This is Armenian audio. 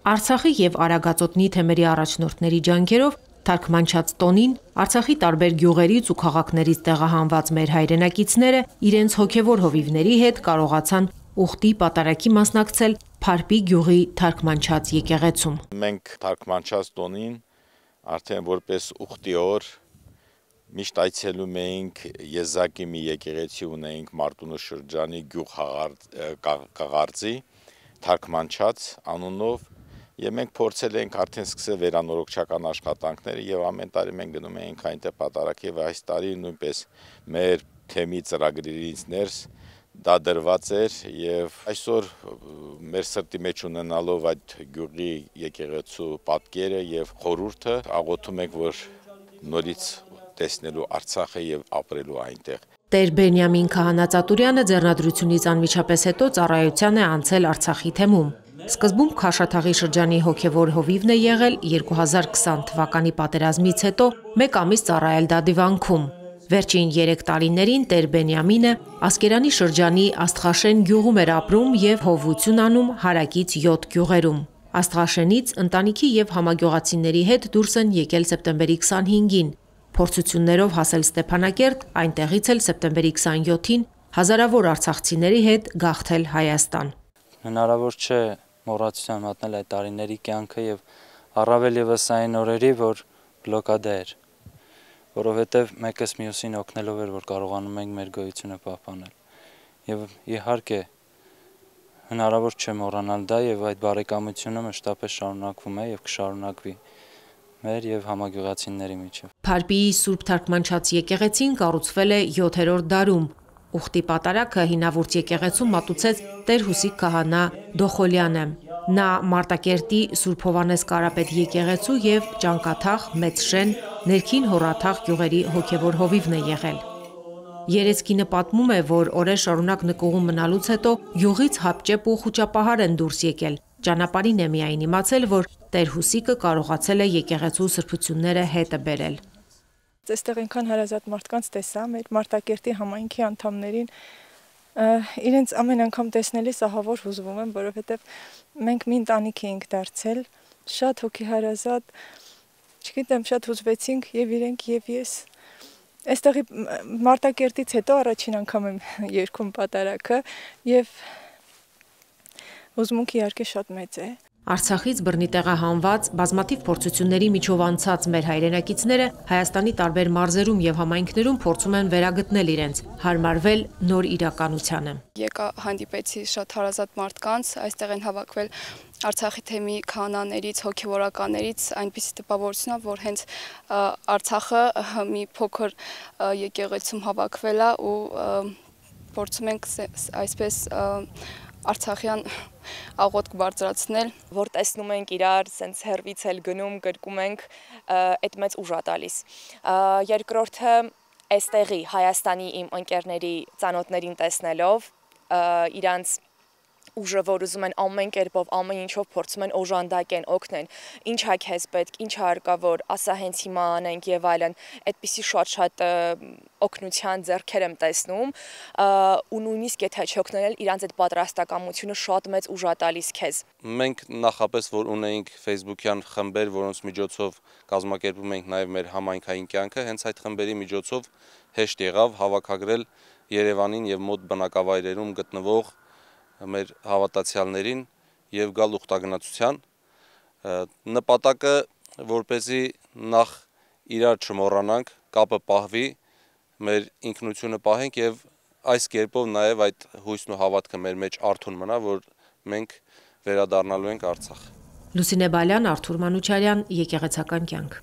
Արցախի եւ Արագածոտնի թեմերի առաջնորդների ջանքերով թարգմանչած տոնին Արցախի տարբեր գյուղերից ու քաղաքներից տեղահանված մեր հայրենակիցները իրենց հոգևոր հովիվների հետ կարողացան ուխտի պատարագի մասնակցել Փարպի գյուղի թարգմանչած եկեղեցում։ Մենք թարգմանչած տոնին արդեն որպես ուխտի օր միշտ այցելում էինք Եզակի մի եկեղեցի ունեինք Մարտունու շրջանի գյուղ Կաղարձի թարգմանչած անունով եւ մենք փորձել ենք արդեն սկսել վերանորոգչական աշխատանքները եւ ամեն տարի մենք գնում էինք այնտեղ պատարագ եւ այս տարի նույնպես մեր թեմի ծրագրերից ներս դա դրված էր եւ այսօր մեր սրտի մեջ ունենալով այդ գյուղի եկեղեցու պատկերը եւ խորհուրդը աղոթում ենք որ նորից տեսնելու Արցախը եւ ապրելու այնտեղ։ Տեր Բենյամին Քահանա-Ծատուրյանը ձեռնադրությունից անմիջապես հետո ծառայության է անցել Արցախի թեմում։ Սկզբում Քաշաթաղի շրջանի հոգևոր հովիվն է եղել 2020 թվականի պատերազմից հետո մեկ ամիս ծառայել Դադիվանքում։ Վերջին 3 տարիներին Տեր Բենյամինը Ասկերանի շրջանի Աստղաշեն գյուղում էր ապրում եւ հովություն անում հարակից 7 գյուղերում։ Աստղաշենից ընտանիքի եւ համագյուղացիների հետ դուրս են եկել սեպտեմբերի 25-ին։ Փորձություններով հասել Ստեփանակերտ, այնտեղից էլ սեպտեմբերի 27-ին հազարավոր արցախցիների հետ գաղթել Հայաստան։ Հնարավոր չէ մոռացության մատնել այդ տարիների կյանքը եւ առավել եւս այն օրերի, որ բլոկադա էր, որովհետեւ մեկս մյուսին օգնելով էր, որ կարողանում ենք մեր գոյությունը պահպանել։ Եվ իհարկե հնարավոր չէ մոռանալ դա եւ այդ բարեկամությունը մշտապես շարունակվում է եւ կշարունակվի մեր եւ համագյուղացիների միջեւ։ Փարպիի Սուրբ Թարգմանչած եկեղեցին կառուցվել է 7-րդ դարում։ Ուխտի պատարագը հինավուրց եկեղեցում մատուցեց Տեր Հուսիկ քահանա Դոխոլյանը։ Նա Մարտակերտի Սուրբ Հովանես Կարապետ եկեղեցու եւ Ճանկաթաղ, Մեծշեն, Ներքին Հոռաթաղ գյուղերի հոգևոր հովիվն է եղել։ Երեցկինը պատմում է, որ օրեր շարունակ նկուղում մնալուց հետո գյուղից հապճեպ ու խուճապահար են դուրս եկել։ Ճանապարհին է միայն իմացել, որ Տեր Հուսիկը կարողացել է եկեղեցու սրբությունները հետը բերել։ Այստեղ այնքան հարազատ մարդկանց տեսա, մեր Մարտակերտի համայնքի անդամներին իրենց ամեն անգամ տեսնելիս ահավոր հուզվում եմ, որովհետև մենք մի ընտանիք էինք դարձել, շատ հոգեհարազատ, չգիտեմ, շատ հուզվեցինք եւ իրենք եւ ես։ Այստեղի Մարտակերտից հետո առաջին անգամ եմ երգում պատարագը եւ հուզմունքը իհարկե շատ մեծ է։ Արցախից բռնի տեղահանված բազմաթիվ փորձությունների միջով անցած մեր հայրենակիցները Հայաստանի տարբեր մարզերում եւ համայնքներում փորձում են վերագտնել իրենց, հարմարվել նոր իրականությանը։ Եկա հանդիպեցի շատ հարազատ մարդկանց, այստեղ են հավաքվել Արցախի թեմի քահանաներից, հոգևորականներից այնպիսի տպավորություն է, որ հենց Արցախը մի փոքր եկեղեցում հավաքվել է ու փորձում ենք այսպես Արցախյան աղոթք բարձրացնել, որ տեսնում ենք իրար, սենց հերվից էլ գնում, գրկում ենք, այդ մեծ ուժ է տալիս։ Երկրորդը այստեղի Հայաստանի իմ ընկերների ծանոթներին տեսնելով, իրանց ուժը, որ ուզում են ամեն կերպով, ամեն ինչով փորձում են օժանդակեն, օգնեն, ինչ է քեզ պետք, ինչ է հարկավոր, ասա հենց հիմա անենք եւ այլն, այդպիսի շատ օգնության ձեռքեր եմ տեսնում ու նույնիսկ եթե չօգնել իրանց այդ պատրաստակամությունը շատ մեծ ուժ է տալիս քեզ։ Մենք նախապես որ ունեինք Facebook-յան խմբեր, որոնց միջոցով կազմակերպում ենք նաեւ մեր համայնքային կյանքը, հենց այդ խմբերի միջոցով հեշտ եղավ հավաքագրել Երևանին եւ մոտ բնակավայրերում գտնվող մեր հավատացյալներին եւ գալ ուխտագնացության նպատակը որպեսզի նախ իրար չմոռանանք, կապը պահվի, մեր ինքնությունը պահենք եւ այս կերպով նաեւ այդ հույսն ու հավատքը մեր մեջ արթուն մնա, որ մենք վերադառնալու ենք Արցախ։ Լուսինե Բալյան, Արթուր Մանուչարյան, Եկեղեցական կյանք։